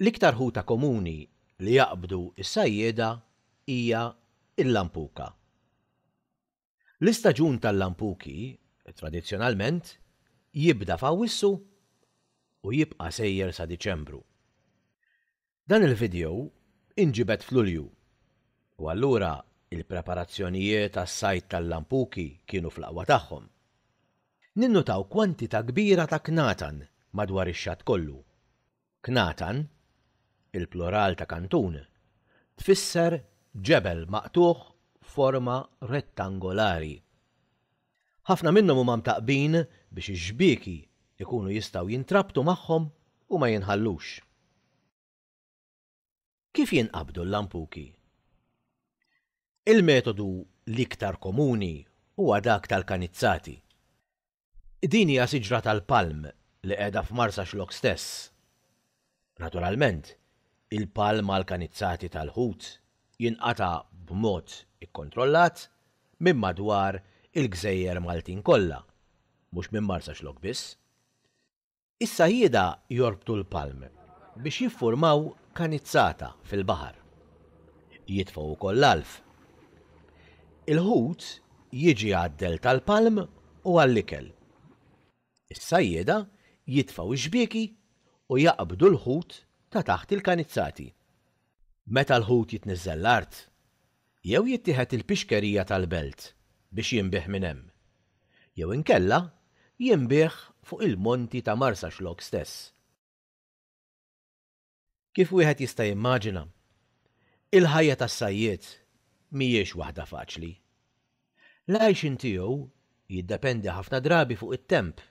L-iktar ħuta komuni li jaqbdu s-sajjieda hija l-lampuka. L-istaġun tal-lampuki, tradizzjonalment, jibda f'Awwissu u jibqa' sejjer sa Diċembru. Dan il-video inġibed f'Lulju u allura il-preparazzjonijiet għas-sajd tal-lampuki kienu fl-aqwa tagħhom. Ninnutaw kwantità kbira ta' knatan madwar ix-xatt kollu. Knatan, il-plural ta' kantun, tfisser ġebel maqtugħ f'forma rettangolari. Ħafna minnhom huma mtaqqbin biex ix-xbieki jkunu jistgħu jintrabtu magħhom u ma jinħallux. Kif jinqabdu l-lampuki? Il-metodu l-iktar komuni huwa dak tal-kanizzati. Din hija siġra tal-palm li qiegħda f'Marsaxlokk stess. Naturalment, il-palm għall-kanizzati tal-ħut jinqata' b'mod ikkontrollat minn madwar il-gżejjer Maltin kollha, mhux minn Marsaxlokk biss. Is-sajjieda jorbtu l-palm biex jiffurmaw kanizzata fil-baħar. Jitfgħu wkoll l-għalf. Il-ħut jiġi għad-dell tal-palm u għall-ikel. Is-sajjieda jitfgħu x-xbieki u jaqbdu l-ħut ta' taħt il-kanizzati. Meta l-ħut jitniżżel l-art, jew jittieħed il-pixkerija tal-belt biex jinbiegħ minn hemm, jew inkella jinbiegħ fuq il-monti ta' Marsaxlokk stess. Kif wieħed jista' jimmaġina, il-ħajja tas-sajjied mhijiex waħda faċli. L-għajxien tiegħu jiddependi ħafna drabi fuq it-temp.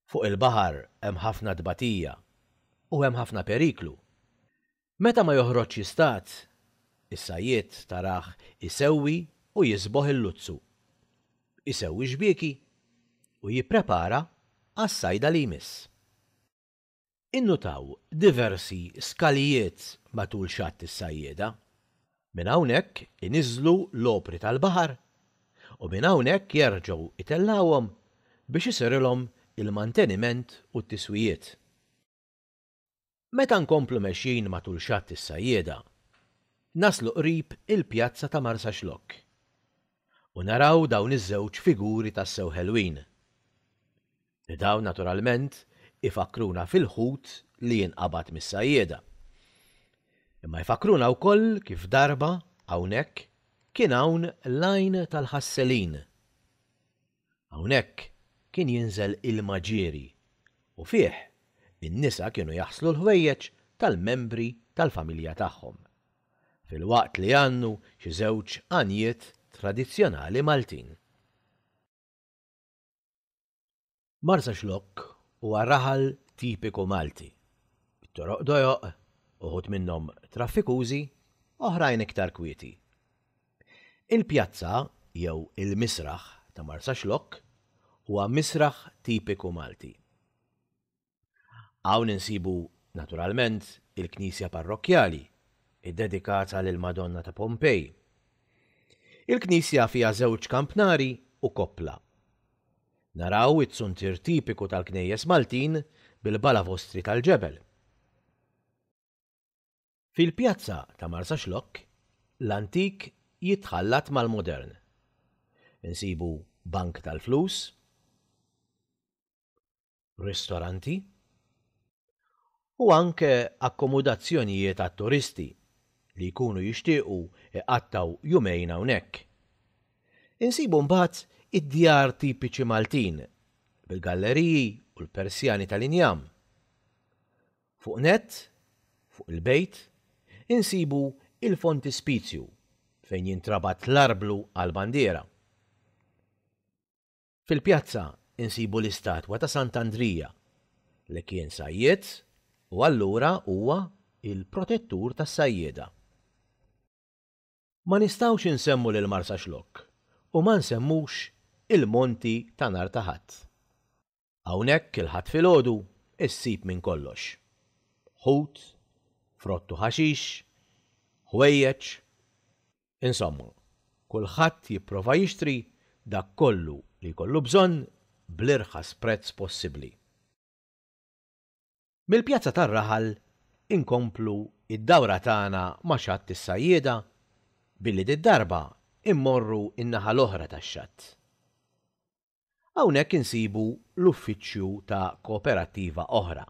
Fuq il-baħar hemm ħafna tbatija u hemm ħafna periklu. Meta ma joħroġx jistad, is-sajjied tarah isewwi u jiżboħ il-luzzu, isewwi x-xbieki u jipprepara għas-sajda li jmiss. Innutaw diversi skalijiet matul xatt is-sajjieda. Minn hawnhekk iniżżlu l-opri tal-baħar u minn hawnhekk jerġgħu jtellgħuhom biex isirilhom il-manteniment u t-tiswijiet. Meta nkomplu mexjin matul Xatt is-Sajjieda, naslu qrib il-pjazza ta' Marsaxlokk u naraw dawn iż-żewġ figuri tassew ħelwin. Li dawn naturalment ifakkruna fil-ħut li jinqabad mis-sajjieda. Imma jfakkruna wkoll kif darba hawnhekk kien hawn l-għajn tal-ħasselin. Hawnhekk kien jinżel ilma ġieri u fih in-nisa kienu jaħslu l-ħwejjeġ tal-membri tal-familja tagħhom, filwaqt li jgħannu xi żewġ għanjiet tradizzjonali Maltin. Marsaxlokk huwa raħal tipiku Malti, bit-toroq dojoq, uħud minnhom traffikużi, oħrajn iktar kwieti. Il-pjazza jew il-misraħ ta' Marsaxlokk huwa misraħ tipiku Malti. Hawn insibu naturalment il-knisja parrokkjali, iddedikata lill-Madonna ta' Pompej. Il-knisja fiha żewġ kampnari u koppla. Naraw it-zuntier tipiku tal-knejjes Maltin bil-balavostri tal-ġebel. Fil-pjazza ta' Marsaxlokk, l-antik jitħallat mal-modern. Insibu bank tal-flus, ristoranti u anke akkomodazzjonijiet għat-turisti li jkunu jixtiequ iqattgħu jumejn hawnhekk. Insibu mbagħad id-djar tipiċi Maltin bil-galleriji u l-persjani tal-injam. Fuq nett, fuq il-bejt, insibu il-fontispizju fejn jintrabat l-arblu għall-bandiera. Fil-pjazza insibu l-istatwa ta' Sant'Andrija li kien sajjied u allura huwa il-protettur tas-sajjieda. Ma nistgħux insemmu lil Marsaxlokk u ma nsemmux il-monti ta' nhar ta' Ħadd. Hawnhekk il-Ħadd filgħodu issib minn kollox. Ħut, frott u ħaxix, ħwejjeġ, insomma, kulħadd jipprova jixtri dak kollu li jkollu bżonn bl-irħas prezz possibbli. Mill-pjazza tar-raħal inkomplu d-dawra tagħna ma' Xatt is-Sajjieda billi did-darba mmorru n-naħa l-oħra tax-xatt. Hawnhekk insibu l-uffiċċju ta' kooperattiva oħra.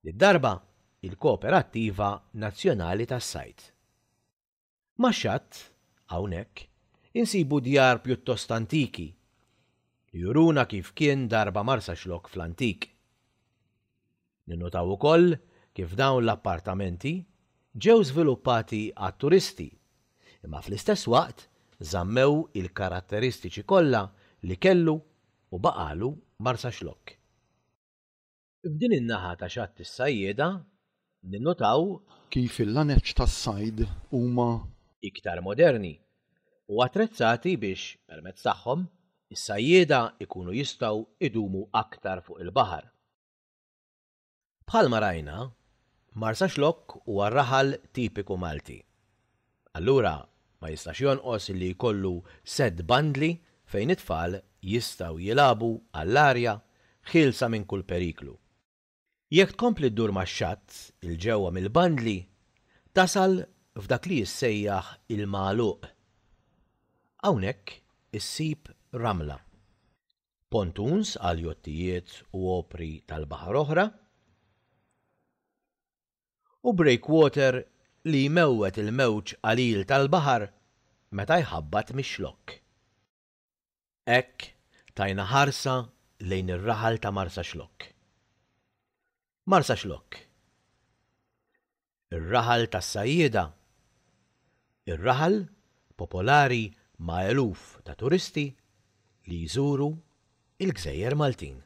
Did-darba il-Kooperattiva Nazzjonali tas-Sajd. Max-xatt, hawnhekk, insibu djar pjuttost antiki li juruna kif kien darba Marsaxlokk fl-antik. Ninnutaw ukoll kif dawn l-appartamenti ġew żviluppati għat-turisti, imma fl-istess waqt żammew il-karatteristiċi kollha li kellu u baqagħlu Marsaxlokk. F'din in-naħa ta' Xatt is-Sajjieda ninnutaw. Kif il-laneċ tas-sajd huma. Iktar moderni u attrezzati biex permezz tagħhom is-sajjieda jkunu jistgħu jdumu aktar fuq il-baħar. Bħalma rajna, Marsaxlokk huwa raħal tipiku Malti. Allura ma jistax jonqos li jkollu sett bandli fejn it-tfal jistgħu jilagħbu għall-arja ħielsa minn kull periklu. Jekk tkompli ddur max-xatt 'il ġewwa mill-bandli tasal f'dak li jissejjaħ il-magħluq. Hawnhekk issib ramla, pontoons għal jottijiet u opri tal-baħar oħra, u breakwater li jmewwet il-mewġ qalil tal-baħar meta jħabbat mix-Xlokk. Hekk tajna ħarsa lejn ir-raħal ta' Marsaxlokk. Marsaxlokk. Ir-raħal tas-sajjieda. Ir-raħal popolari ma' eluf ta' turisti li jżuru l-gżejjer Maltin.